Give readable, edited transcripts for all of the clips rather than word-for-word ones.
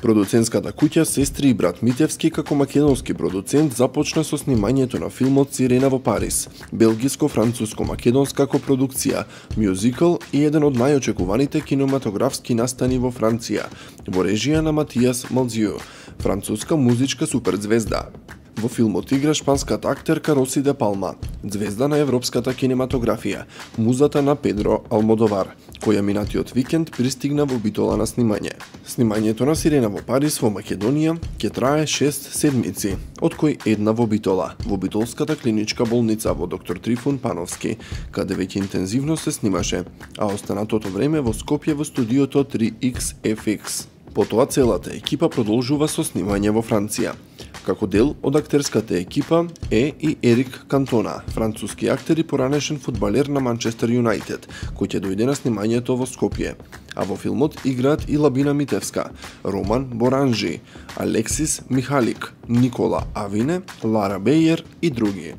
Продуцентската куќа Сестри и брат Митевски како македонски продуцент започна со снимањето на филмот Сирена во Париз, белгиско-француско-македонска копродукција, мюзикл и еден од најочекуваните кинематографски настани во Франција, во режија на Матиас Малзиу, француска музичка суперзвезда. Во филмот игра шпанската актерка Роси де Палма, звезда на европската кинематографија, музата на Педро Алмодовар, која минатиот викенд пристигна во Битола на снимање. Снимањето на Сирена во Париз во Македонија ќе трае 6 седмици, од кои една во Битола, во Битолската клиничка болница во доктор Трифун Пановски, каде веќе интензивно се снимаше, а останатото време во Скопје во студиото 3XFX. Потоа целата екипа продолжува со снимање во Франција. Како дел од актерската екипа е и Ерик Кантона, француски актер и поранешен фудбалер на Манчестер Юнайтед, кој ќе дојде на снимањето во Скопје. А во филмот играат и Лабина Митевска, Роман Боранжи, Алексис Михалик, Никола Авине, Лара Бејер и други.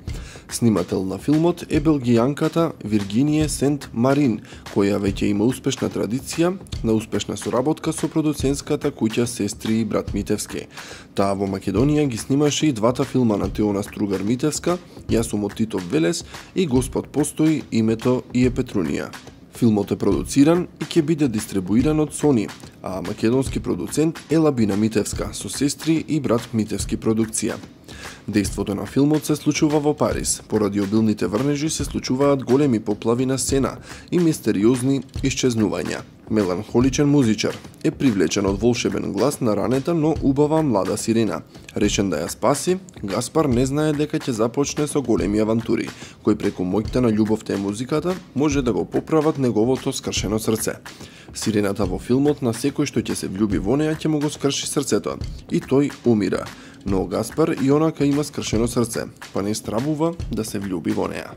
Снимател на филмот е белгијанката Виргиние Сент Марин, која веќе има успешна традиција на успешна соработка со продуцентската куќа Сестри и брат Митевски. Таа во Македонија ги снимаше и двата филма на Теона Стругар Митевска, Јас сум од Титов Велес и Господ постои, името и е Петрунија. Филмот е продуциран и ќе биде дистрибуиран од Сони, а македонски продуцент е Лабина Митевска со Сестри и брат Митевски продукција. Дејството на филмот се случува во Париз. Поради обилните врнежи се случуваат големи поплави на сцена и мистериозни исчезнувања. Меланхоличен музичар е привлечен од волшебен глас на ранета, но убава млада сирена. Решен да ја спаси, Гаспар не знае дека ќе започне со големи авантури, кои преку моќта на љубовта и музиката може да го поправат неговото скршено срце. Сирената во филмот на секој што ќе се влюби во неа ќе му го скрши срцето и тој умира. Но Гаспар и онака има скршено срце, па не стравува да се влюби во неа.